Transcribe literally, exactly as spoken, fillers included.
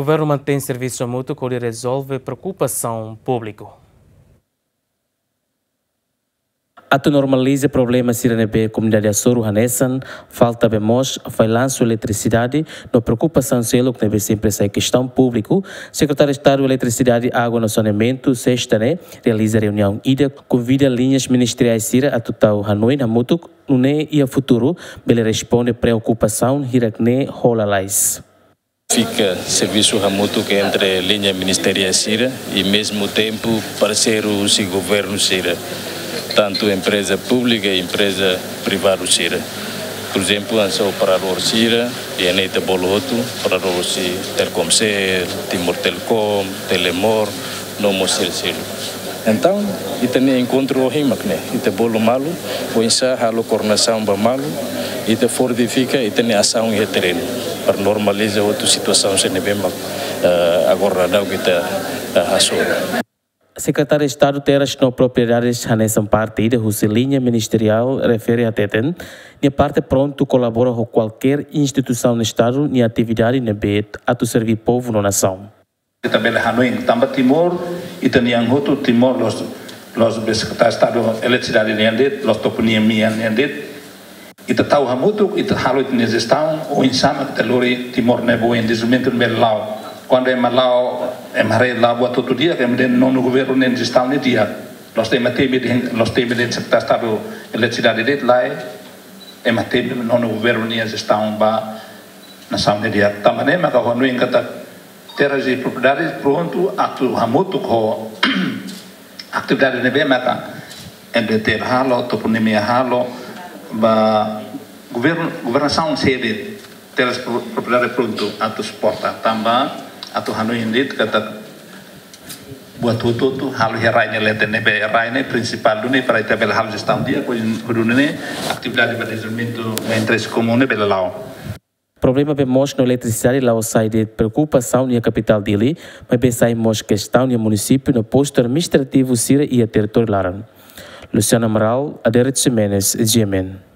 Governu mantein servisu hamutuk hodi rezolve preokupasaun públiku. Atu normaliza problema sira ne'ebé komunidade hasoru hanesan falta bee moos, fallansu eletrisidade no preokupasaun seluk ne'ebé sempre sai kestaun públiku, Sekretáriu Estadu Eletrisidade, Água no Saneamentu, sesta ne'e, realiza reuniaun ida, konvida liñas ministeriais sira atu tau hanoin hamutuk, nune'e iha futuru bele responde preokupasaun hirak ne'e ho lalais. Fika servisu hamutuk entre liña ministeriál sira i, mezmu tempu, parseiru husi governu sira, tantu empreza públika i empreza privadu sira. Por ezemplu, hanesan operadór sira, i ne'e ita bolu hotu, operadór husi Telkomsel, Timor Telecom, Telemor, no mós Celcel. Entaun, ita-nia enkontru ohin mak ne'e, ita bolu malu, oinsá halo koordenasaun ba malu, ita fortifika ita-nia asaun iha terrenu, para normaliza hotu situasaun sira ne'ebé mak, eh, agora daudaun ita, eh, hasoru. Sekretáriu Estadu Terras no Propriedades hanesan parte ida husi liña ministeriál refere hateten, nia parte prontu kolabora ho kualkér instituisaun Estadu nia atividade ne'ebé atu serví povu no nasaun. Ita bele hanoin, tanba Timor, ita-nian hotu Timor, la'ós, la'ós be Sekretáriu Estadu Eletrisidade nian de'it, la'ós Toponímia nian de'it. Ita tau hamutuk, ita halo ita-nia jestaun, oinsá mak ita lori Timor ne'e ba oin, dezenvolvimentu ne'e bele la'o. Kuandu ema la'o, ema haree la'o buat hotu di'ak, ema dehan nonu governu nia jestaun ne'e di'ak. La'ós ema temi dehan, la'ós temi dehan Sekretáriu Estadu Eletrisidade de'it, lae, ema temi nonu governu nia jestaun ba nasaun ne'e di'ak. Tanba ne'e maka ha'u hanoin katak Terras e Propriedades prontu atu hamutuk ho atividade ne'ebé maka N D T L halo, Toponímia halo, ba governu, governasaun sede, Terras Pro-, Propriedades prontu atu suporta, tanba atu hanoin de'it katak buat hotu-hotu halo iha rai nia leten, ne'ebé rai ne'e prinsipál duni para ita bele halo jestaun di'ak, hodi nune'e atividade ba dezenvolvimentu ba interese komún ne'e bele la'o. Problema bee moos no eletrisidade la'ós sai de'it preokupasaun iha kapitál Dili, maibé sai mós kestaun iha munisípiu no postu administrativu sira iha territóriu laran. Luciano Amaral, Adérito Ximenes, G M N.